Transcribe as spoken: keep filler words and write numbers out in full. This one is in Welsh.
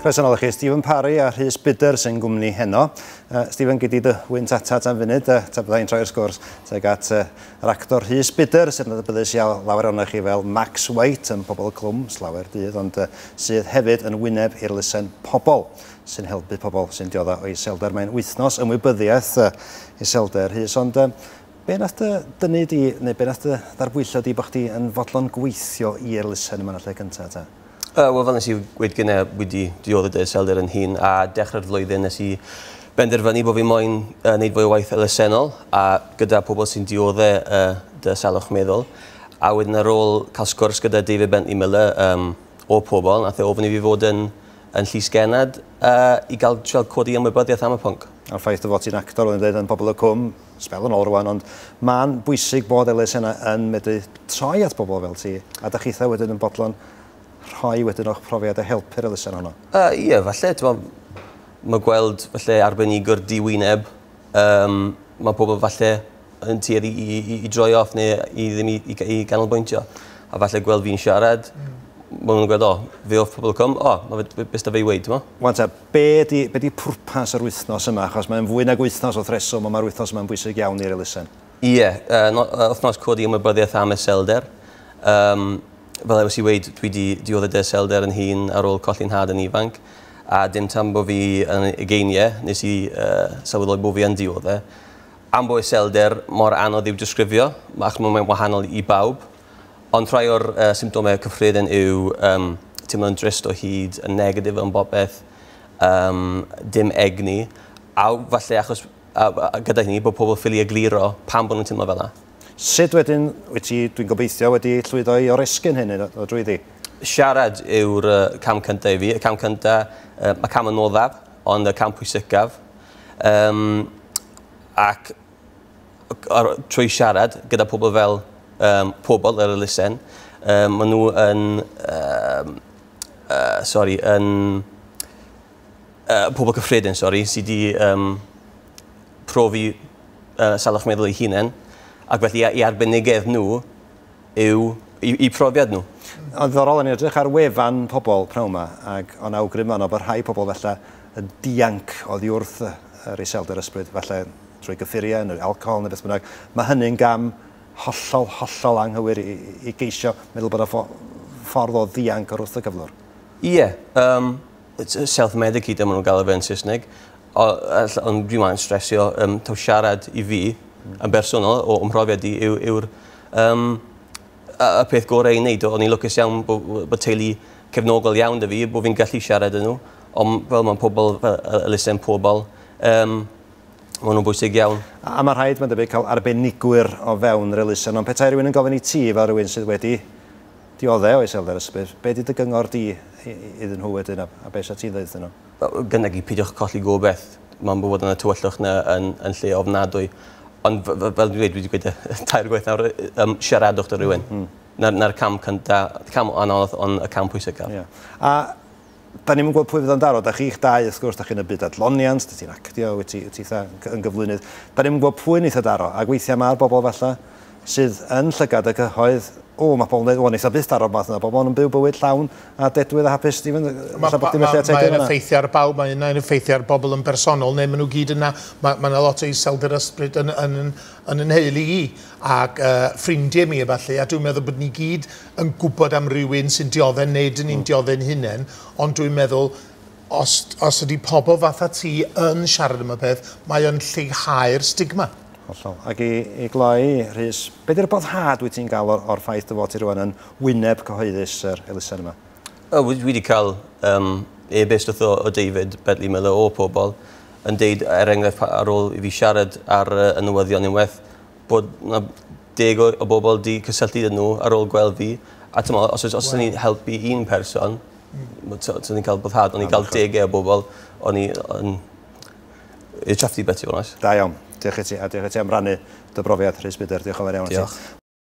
Croeso nôl i chi, Stifyn Parri a Rhys Bydder sy'n gwmni heno. Uh, Stifyn, gei di dy wynt atat am funud, uh, ta byddai'n troi'r sgwrs tuag at uh, yr actor Rhys Bydder, sydd yn adnabyddus iawn lawer ohonoch chi fel Max White yn Pobol y Cwm, slawer dydd, ond uh, sydd hefyd yn wyneb i'r elusen Pobol, sy'n helpu pobl sy'n diodda o iselder. Mae'n wythnos ymwybyddiaeth uh, iselder, Rhys, ond uh, be nath dy dynnu di, neu be nath dy ddarbwyllo di bod chdi yn fodlon gweithio i'r elusen yma yn y lle cyntaf ta? Uh, Wel, fel nes i gweud gynne, wedi dioddef dy iselder yn hun, a dechrau'r flwyddyn nes i benderfynu bod fi moyn uh, wneud fwy o waith elusennol a gyda pobl sy'n dioddef uh, dy salwch meddwl. A wedyn ar ôl cael sgwrs gyda David Bentley Miller um, o Pobl, nath e ofyn i fi fod yn, yn llysgennad uh, i gael trial codi ymwybyddiaeth am y pwnc. A'r ffaith o fod ti'n actor, o'n i'n dweud yn Pobol y Cwm, sbel yn ôl rwan, ond mae'n bwysig bod elusennau yn medru troi at bobl fel ti, a da chitha wedyn yn bodlon rhoi wedyn o'ch profiad a helpu'r elusen honno. Uh, ie, falle, mae gweld falle arbenigwr diwyneb, um, mae pobl falle yn tueddu i, i, i droi off neu i ddim i, i, i ganolbwyntio. A falle gweld fi'n siarad, mm. maen nhw'n gweld, o, fe off Pobol y Cwm, o, mae fe, beth da fe i weud, ti'n Wan ta, be di, be di pwrpas yr wythnos yma? Achos mae'n fwy nag wythnos wrth reswm, ond mae'r wythnos yma'n bwysig iawn i'r elusen. Ie, yeah, uh, no, uh, wythnos codi ymwybyddiaeth am iselder. Um, fel nes i weud, dwi wedi dioddef dy iselder yn hun ar ôl colli'n nhad yn ifanc. A dim tan bod fi yn ugeiniau, nes i uh, sylweddoli bod fi yn dioddef. Am bod iselder mor anodd i'w disgrifio, achos mae'n wahanol i bawb. Ond rhai o'r uh, symptomau cyffredin yw um, teimlo'n drist o hyd, yn negatif yn bopeth, um, dim egni, a falle achos a, a, gyda hynny bod pobl ffili egluro pam bod nhw'n teimlo fel yna. Sut wedyn, wyt ti, dwi'n gobeithio, wedi llwyddo i oresgyn hyn o drwyddi? Siarad yw'r uh, cam cyntaf i fi. Y cam cyntaf, uh, mae cam anoddaf, ond y cam pwysicaf. Um, ac ar, trwy siarad gyda pobl fel um, Pobl yr elusen, um, maen nhw yn, um, uh, sorry, yn uh, pobl cyffredin, sorry, sydd wedi um, profi uh, salwch meddwl eu hunain, ac felly i arbenigedd nhw yw i, i profiad nhw. Ond ddiddorol, o'n i'n edrych ar wefan Pobol pnawn yma, ac o'n awgrym yno bod rhai pobl falle yn dianc oddi wrth yr iselder ysbryd, falle trwy gyffuriau neu alcohol neu beth bynnag. Mae hynny'n gam hollol, hollol anghywir i, i geisio meddwl bod y ffordd o ddianc o'r wrth y cyflwr. Ie, yeah, um, self-medicate maen nhw'n gael e yn Saesneg, ond dwi'n ma'n stresio um, taw siarad i fi yn bersonol o ymhrofiad i yw'r yw, um, y peth gorau i wneud. O'n i'n lwcus iawn bod, bod teulu cefnogol iawn 'da fi, bod fi'n gallu siarad â nhw, ond fel mae'n pobl, fel elusen Pobl, um, maen nhw'n bwysig iawn. A, a mae rhaid, mae'n debyg, cael arbenigwyr o fewn yr elusen, ond petai rhywun yn gofyn i ti fel rhywun sydd wedi dioddef o iselder ysbryd, be di dy gyngor di iddyn nhw wedyn, a, a be sa ti'n dweud iddyn nhw? Gynnau i peidiwch colli gobeith. Mae'n bod yn y tywyllwch na yn, yn lle ofnadwy. Ond fel dwi'n dweud, dwi wedi gweud y tair gwaith nawr, um, siaradwch 'da rhywun. Mm. Na'r, na'r cam cyntaf, cam anodd, ond y cam pwysicaf. Yeah. A da ni'n gwybod pwy fydd o'n daro, da chi'ch dau, wrth gwrs, da chi'n y byd adloniant, da ti'n actio, wyt ti, wyt ti yn gyflwynydd. Da ni'n gwybod pwy wneith o daro, ac weithiau mae'r bobl falle sydd yn llygad y cyhoedd, o, mae pobl yn dweud, o, wneith o byth daro math yna, bobl yn byw bywyd llawn a dedwydd a hapus, Stephen, Mae'n effeithio ar bawb, mae'n effeithio ar bobl yn bersonol, neu maen nhw gyd yna, mae yna lot o iselder ysbryd yn, yn, yn, yn yn nheulu i, ac uh, ffrindiau mi efallai, a dwi'n meddwl bod ni gyd yn gwybod am rywun sy'n dioddef neu dyn ni'n mm. dioddef'n hunain, ond dwi'n meddwl, os, os ydy pobl fatha ti yn siarad am y peth, mae o'n lleihau'r stigma. Hollol. Ac i, i gloi, Rhys, be di'r boddhad wyt ti'n gael o'r, or ffaith dy fod ti rwan yn wyneb cyhoeddus yr elusen yma? O, dwi wedi cael um, e-byst wrth o, o David Bentley Miller o Pobl yn deud, er enghraifft, ar ôl i fi siarad ar uh, y newyddion unwaith, bod na deg o, o bobl di cysylltu â nhw ar ôl gweld fi. A ti'n os, os, os wow. ni'n helpu un person, mm. ni'n cael boddhad, o'n i'n cael degau o bobl, o'n i'n chuffed i bit, i fod. Da iawn. Diolch i ti, a diolch i ti am rannu dy brofiad, Rhys Bydder. Diolch yn fawr iawn i ti.